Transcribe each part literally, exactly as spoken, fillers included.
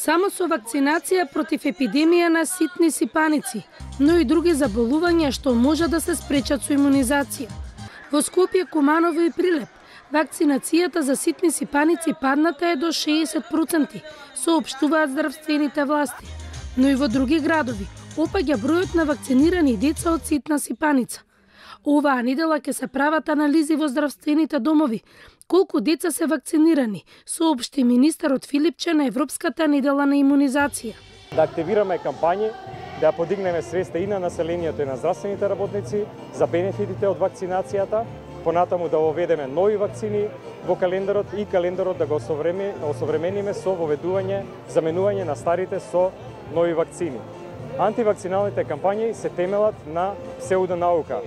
Само со вакцинација против епидемија на ситни сипаници, но и други заболувања што може да се спречат со имунизација. Во Скопје, Куманово и Прилеп, вакцинацијата за ситни сипаници падната е до шеесет проценти, соопштуваат здравствените власти. Но и во други градови опаѓа бројот на вакцинирани деца од ситна сипаница. Оваа недела ќе се прават анализи во здравствените домови колку деца се вакцинирани, соопшти министерот Филипче на Европската недела на имунизација. Да активираме кампањи, да ја подигнеме свеста и на населението и на здравствените работници за бенефитите од вакцинацијата, понатаму да воведеме нови вакцини во календарот и календарот да го осовремениме со воведување, заменување на старите со нови вакцини. Антивакциналните кампањи се темелат на псевдонаука,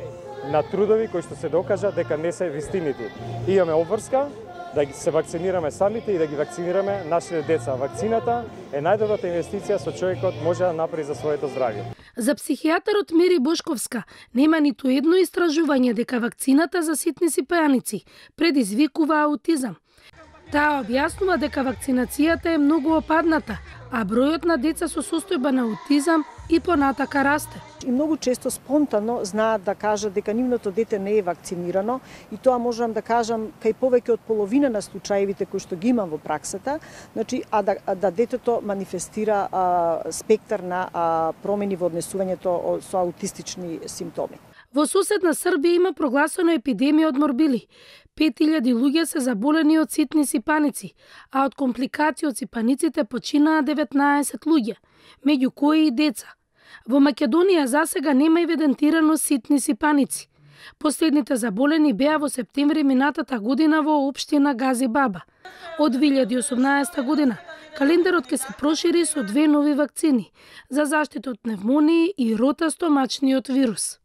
на трудови кои што се докажа дека не се вистинити. Имаме обврска да се вакцинираме самите и да ги вакцинираме нашите деца. Вакцината е најдобрата инвестиција со човекот може да направи за своето здравје. За психијатарот Мери Бошковска нема ниту едно истражување дека вакцината за ситни сипаници предизвикува аутизам. Таа објаснува дека вакцинацијата е многу опадната, а бројот на деца со состојба на аутизам и понатака расте. И многу често спонтано знаат да кажат дека нивното дете не е вакцинирано и тоа можам да кажам кај повеќе од половина на случаевите кои што ги имам во праксата, значи а да, а да детето манифестира а, спектар на а, промени во однесувањето со аутистични симптоми. Во соседна Србија има прогласена епидемија од морбили. пет илјади луѓе се заболени од ситни сипаници, а од компликации од сипаниците починаа деветнаесет луѓе, меѓу кои и деца. Во Македонија засега нема евидентирано ситни сипаници. Последните заболени беа во септември минатата година во општина Гази Баба. Од две илјади и осумнаесета година календарот ќе се прошири со две нови вакцини за заштита од пневмонија и рота стомачниот вирус.